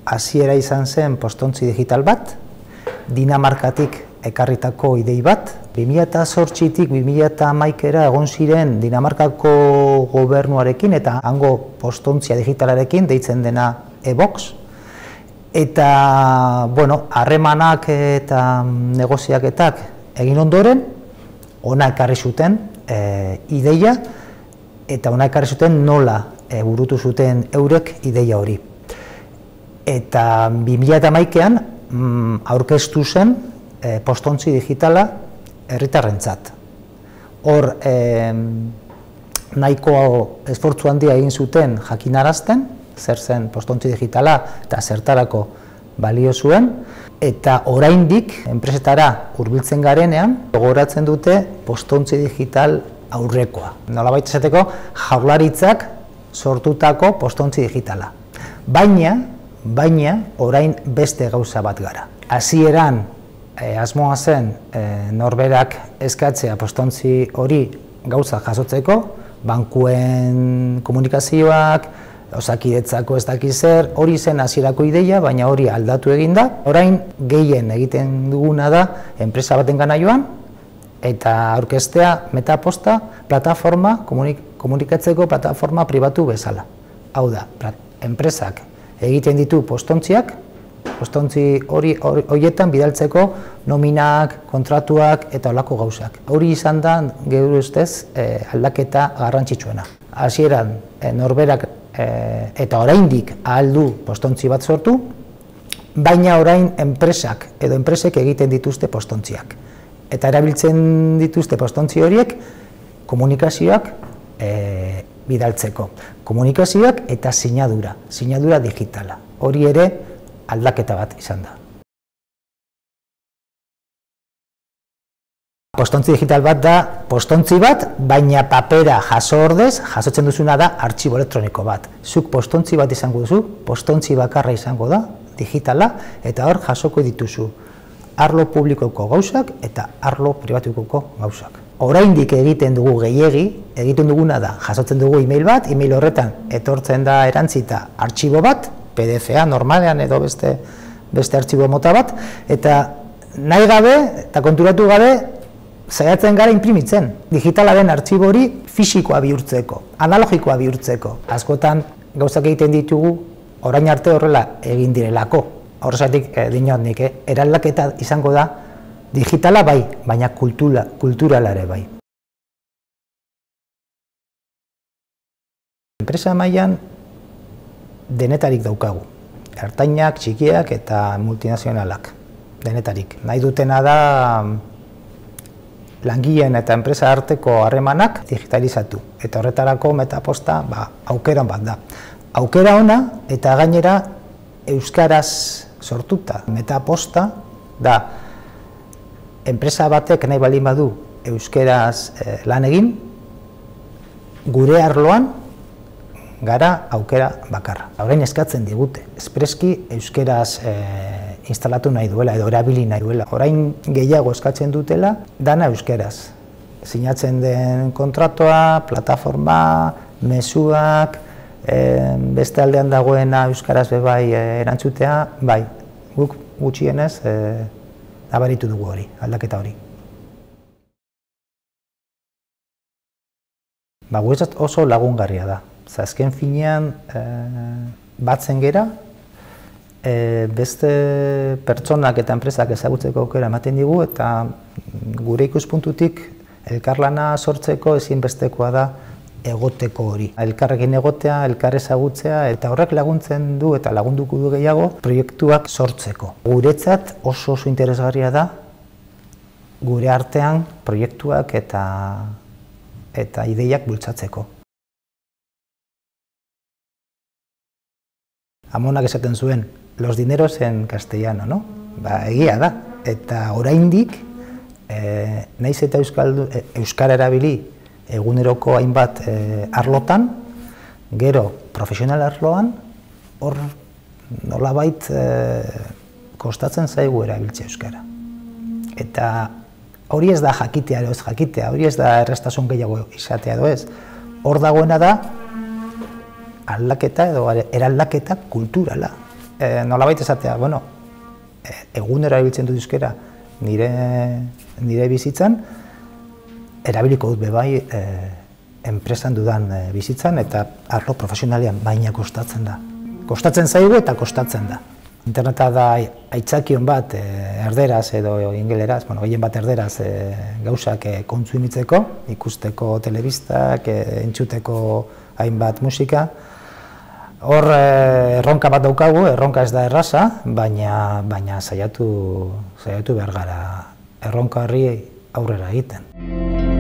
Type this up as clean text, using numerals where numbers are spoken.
hasiera izan zen postontzi digital bat, Dinamarkatik ekarritako idei bat. 2008tik 2011era egon ziren Dinamarkako gobernuarekin eta hango postontzia digitalarekin deitzen dena e-Box. Eta, harremanak eta negoziaketak egin ondoren, ona ekarri zuten ideia eta ona ekarri zuten nola burutu zuten eurek ideia hori. Eta 2011an aurkeztu zen postontzi digitala herritarrentzat. Hor nahiko esfortzu handia egin zuten jakinarazten, zer zen postontzi digitala eta zertarako balio zuen, eta oraindik enpresetara hurbiltzen garenean gogoratzen dute postontzi digital aurrekoa. Nolabait esateko Jaurlaritzak sortutako postontzi digitala. Baina orain beste gauza bat gara. Hasieran asmoa zen norberak eskatzea postontzi hori gauza jasotzeko, bankuen komunikazioak, Osakidetzako ez dakiz zer, hori zen hasierako ideia, baina hori aldatu egin da. Orain gehien egiten duguna da enpresa batengana joan eta aurkeztea Metaposta plataforma, komunikatzeko plataforma pribatu bezala. Hau da, enpresak egiten ditu postontziak, postontzi horietan bidaltzeko nominak, kontratuak eta holako gauzak. Hori izan da, geure ustez, aldaketa garrantzitsuena. Hasieran norberak eta oraindik ahal du postontzi bat sortu, baina orain enpresek egiten dituzte postontziak. Eta erabiltzen dituzte postontzi horiek komunikazioak bidaltzeko. Komunikazioak eta sinadura digitala. Hori ere aldaketa bat izan da. Postontzi digital bat da postontzi bat, baina papera jaso ordez, jasotzen duzuna da artxibo elektroniko bat. Zuk postontzi bat izango duzu, postontzi bakarra izango da, digitala, eta hor jasoko dituzu arlo publikoko gauzak eta arlo pribatukoko gauzak. Oraindik egiten dugu gehiegi, egiten duguna da, jasotzen dugu e-mail bat, e-mail horretan etortzen da erantzita artxibo bat, PDF-a normalean edo beste artxibo mota bat, eta nahi gabe eta konturatu gabe saiatzen gara inprimitzen. Digitala den artxibo hori fisikoa bihurtzeko, analogikoa bihurtzeko. Askotan gauzak egiten ditugu orain arte horrela egin direlako. Horrezatik dinot nik, eraldaketa izango da digitala bai, baina kulturala ere bai. Enpresa mailan denetarik daukagu. Ertainak, txikiak eta multinazionalak. Denetarik. Nahi dutena da langileen eta enpresa arteko harremanak digitalizatu. Eta horretarako Metaposta aukera bat da. Aukera ona eta gainera euskaraz sortuta. Metaposta da enpresa batek nahi baldin badu euskaraz lan egin, gure arloan gara aukera bakarra. Orain eskatzen digute, espreski euskaraz instalatu nahi duela edo erabili nahi duela. Orain gehiago eskatzen dutela, dana euskaraz. Sinatzen den kontratua, plataforma, mezuak, beste aldean dagoena euskaraz bai erantzutea, bai, guk gutxienez nabaritu dugu hori, aldaketa hori. Guretzat oso lagungarria da. Azken finean batzen gera, beste pertsonak eta enpresak ezagutzeko aukera ematen digu eta gure ikuspuntutik elkarlana sortzeko ezinbestekoa da egoteko hori. Elkarrekin egotea, elkar ezagutzea eta horrek laguntzen du eta lagunduko du gehiago proiektuak sortzeko. Guretzat oso interesgarria da gure artean proiektuak eta ideiak bultzatzeko. Amonak esaten zuen, los dineros en castellano, no? Egia da. Eta oraindik, naiz eta euskara erabili eguneroko hainbat arlotan, gero profesional arloan, hor nolabait kostatzen zaigu erabiltzea euskara. Eta hori ez da jakitea edo ez jakitea, hori ez da errestasun gehiago izatea edo ez. Hor dagoena da aldaketa edo eraldaketa kulturala. nolabait esatea, bueno, egunero erabiltzen dut euskara nire bizitzan, erabiliko dut bebai enpresan dudan bizitzan eta arlo profesionalian, baina kostatzen da. Kostatzen zaigu eta kostatzen da. Interneta da aitzakion bat erderaz edo ingeleraz, gehien bat erderaz gauzak kontsumitzeko, ikusteko telebistak, entzuteko hainbat musika. Hor erronka bat daukagu, erronka ez da erraza, baina saiatu behar gara erronka horri aurrera egiten.